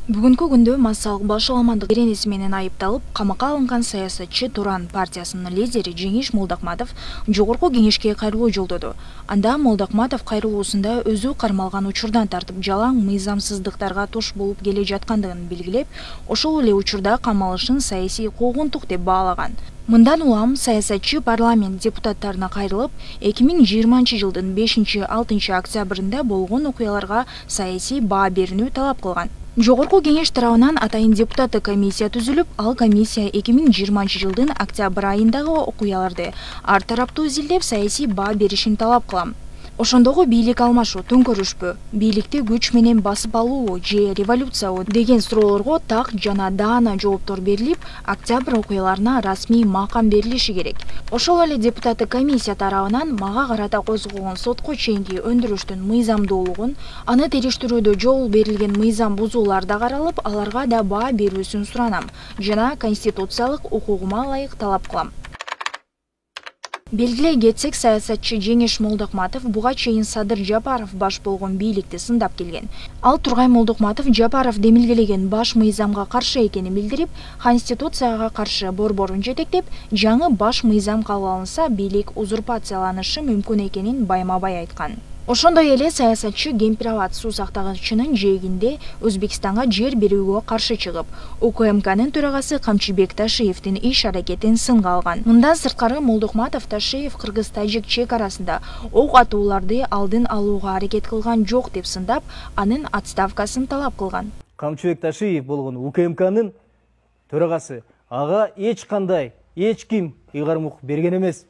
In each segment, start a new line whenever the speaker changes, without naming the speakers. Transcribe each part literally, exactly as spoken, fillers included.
Бүгүнкү күндө массалык башаламандык беренеси менен айыпталып, камакка алынган саясатчы Туран партиясынын лидери Жеңиш Молдокматов Жогорку Кеңешке кайрылуу жолдоду. Анда Молдокматов кайрылуусунда өзү кармалган учурдан тартып жалаң мыйзамсыздыктарга туш болуп келе жаткандыгын белгилеп, ошол эле учурда камалышын саясий куугунтук деп баалаган. Мындан улам саясатчы парламент депутаттарына кайрылып, эки миң жыйырманчы жылдын бешинчи алтынчы октябрында болгон окуяларга саясий баа берүүнү талап кылган. Жогорку Кеңеш тарабынан атайын депутаттык комиссия түзүлүп, ал комиссия эки миң жыйырманчы жылдын октябрь айындагы окуяларды ар тараптуу изилдеп, саясий баа беришин талап кылам. Ошондогу бийлик алмашуу, төңкөрүшпү, бийликти күч менен басып алуу же революциябы деген суроолорго так жана даана жооптор берилип, октябрь окуяларына расмий макам берилиши керек. Ошол эле депутаттык комиссия тарабынан мага карата козголгон сотко чейинки өндүрүштүн мыйзамдуулугун, аны териштирүүдө жол берилген мыйзам бузуулар да каралып, аларга да баа берүүсүн суранам жана конституциялык укугума ылайык талап кылам. Белгилей кетсек, саясатчы Жеңиш Молдокматов буга чейин Садыр Жапаров баш болгон бийликти сындап келген. Ал Тургай Молдокматов Жапаров демилгелеген баш мыйзамга каршы экенин билдирип, конституцияга каршы борборун жетектеп, жаңы баш мыйзам кабыл алынса, бийлик узурпацияланышы мүмкүн экенин байма-бай айткан. Ошондой эле саясатчы Гемпирабад суу сактагычынын жээгинде Өзбекстанга жер берүүгө каршы чыгып, УКМКнын төрагасы Камчыбек Ташиевдин иш-аракетин сынга алган. Мындан сырткары Молдокматов Ташиев кыргыз-тажик чек арасында ок атууларды алдын алууга аракет кылган жок деп сындап, анын отставкасын талап кылган.
Камчыбек Ташиев болгон УКМКнын төрагасы ага эч кандай, эч ким ыйгарым берген эмес.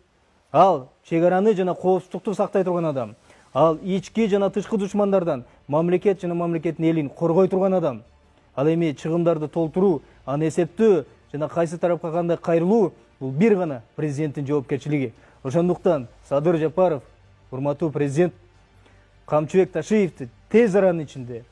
Ал чек араны жана коопсуздукту сактай турган адам. Ал ички жана тышкы душмандардан мамлекет жана мамлекеттин элин коргой турган адам. Ал эми чыгымдарды толтуруу, аны эсептөө жана кайсы тарапка кандай кайрылуу бул бир гана президенттин жоопкерчилиги. Ошондуктан Садыр Жапаров, урматтуу президент, Камчыбек Ташиевди тез аранын ичинде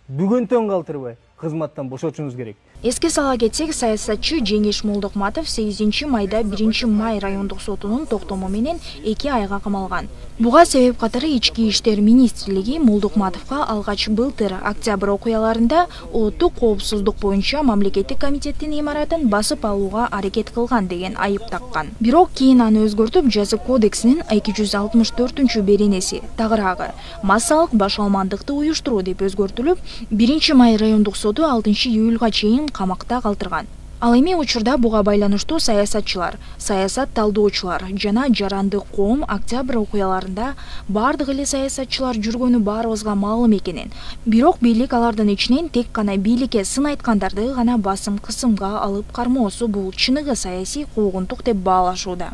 бүгүнтөн калтырбай кызматтан бошотушуңуз керек.
Эске сала кетсек, саясатчы Жеңиш Молдокматов сегизинчи майда биринчи май райондук сотунун токтому менен эки айга камалган. Буга себеп катары Ички иштер министрлиги Молдокматовго алгач былтыр октябрь окуяларында улуттук коопсуздук боюнча мамлекеттик комитеттин имаратын басып алууга аракет кылган деген айып таккан. Бирок кийин аны өзгөртүп, жаза кодексинин эки жүз алтымыш төртүнчү беренеси тагыраагы массалык башаламандыкты уюштуруу деп өзгөртүлүп, биринчи май райондук соту алтынчы июлга чейин камакта калтырган. Ал эми учурда буга байланыштуу саясатчылар, саясат талдоочулар жана жарандык коом октябрь окуяларында бардык эле саясатчылар жүргөнү баарыбызга маалым экенин, бирок бийлик алардын ичинен тек гана бийликке сын айткандарды гана басым кысымга алып кармоосу бул чыныгы саясий куугунтук деп баалашууда.